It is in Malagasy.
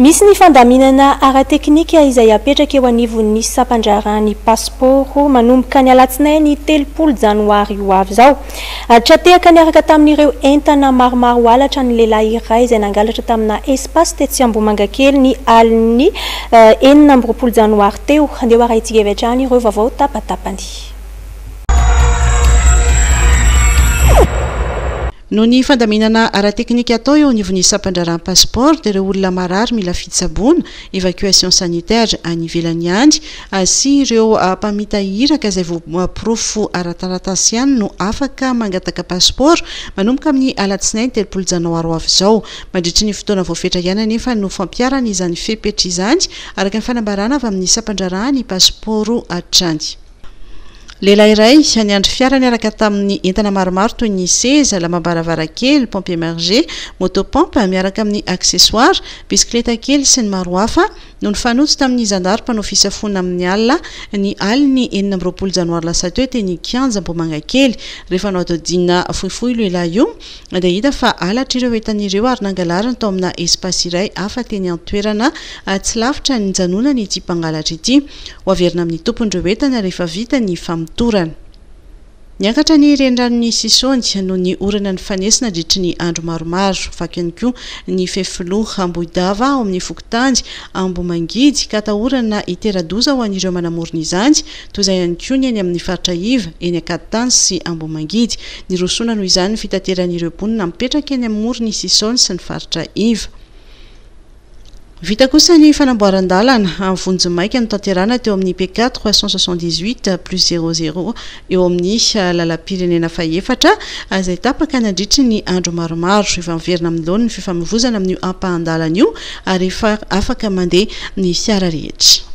Misy ny fandaminana ara-teknika izay apetraka eo anivon'ny sampan-draharahan'ny pasipaoro manomboka ny alatsinainy 30 janoary ho avy izao. Tra-tehaka niaraka tamin'ireo entana maromaro halatra ny lehilahy iray izay nangalatra tamina espace tetsy Ambohimangakely ny alin'ny 26 janoary teo. Andeha ho arahintsika avy hatrany ireo vaovao tapatapany. Noho ny fandaminana ara-teknika atao eo anivon'ny sampan-draharahan'ny pasipaoro dia ireo olona marary mila fitsaboana, évacuation sanitaire, any ivelany ihany sy ireo mpamita iraka izay voaporofo ara-taratasy ihany no afaka mangataka pasipaoro manomboka amin'ny alatsinainy 30 janoary ho avy izao. Mandritry ny fotoana voafetra ihany anefa no fampiharana izany fepetra izany araka ny fanambarana avy amin'ny sampan-draharahan'ny pasipaoro hatrany. Lehilahy iray niandry fiara niaraka tamin'ny entana maromaro toy ny seza, lambam-baravarankely, pompe immergée, moto pompe miaraka amin'ny accessoires, bisikileta kely sy ny maro hafa no nifanojo tamin'ny zandary mpanao fisafoana amin'ny alina ny alin'ny 26 janoary lasa teo teny Kianja Ambohimangakely. Rehefa nohadihadiana fohifohy io lehilahy io dia hita fa halatra ireo entana ireo ary nangalariny tao amina espace iray hafa teny an-toerana tsy lavitra ny nijanonany ity mpangalatra ity. Ho averina amin'ny tompony ireo entana rehefa vita ny famotorana. Niakatra ny reniranon'i Sisaony noho ny orana nifanesy nandritry ny andro maromaro. Vaky ihany koa ny fefiloha Ambohidava ao amin'ny fokontany Ambohimangidy ka atahorana hitera-doza ho an'ireo manamorona izany, toy izay ihany koa ny eny amin'ny faritra iva, eny Ankaditany sy Ambohimangidy. Nirosoana noho izany ny fitateran'ireo mponina mipetraka eny amoron'i Sisaony sy ny faritra iva. Vita kosa ny fanamboaran-dalana vonjimaika notanterahina teo amin'ny PK 378 plus zéro zéro eo amin'ny lalam-pirenena fahefatra izay tapaka nandritry ny andro maromaro. Efa miverina amin'ny laoniny ny fifamoivozana amin'io ampahan-dalana io ary efa afaka mandeha ny fiara rehetra.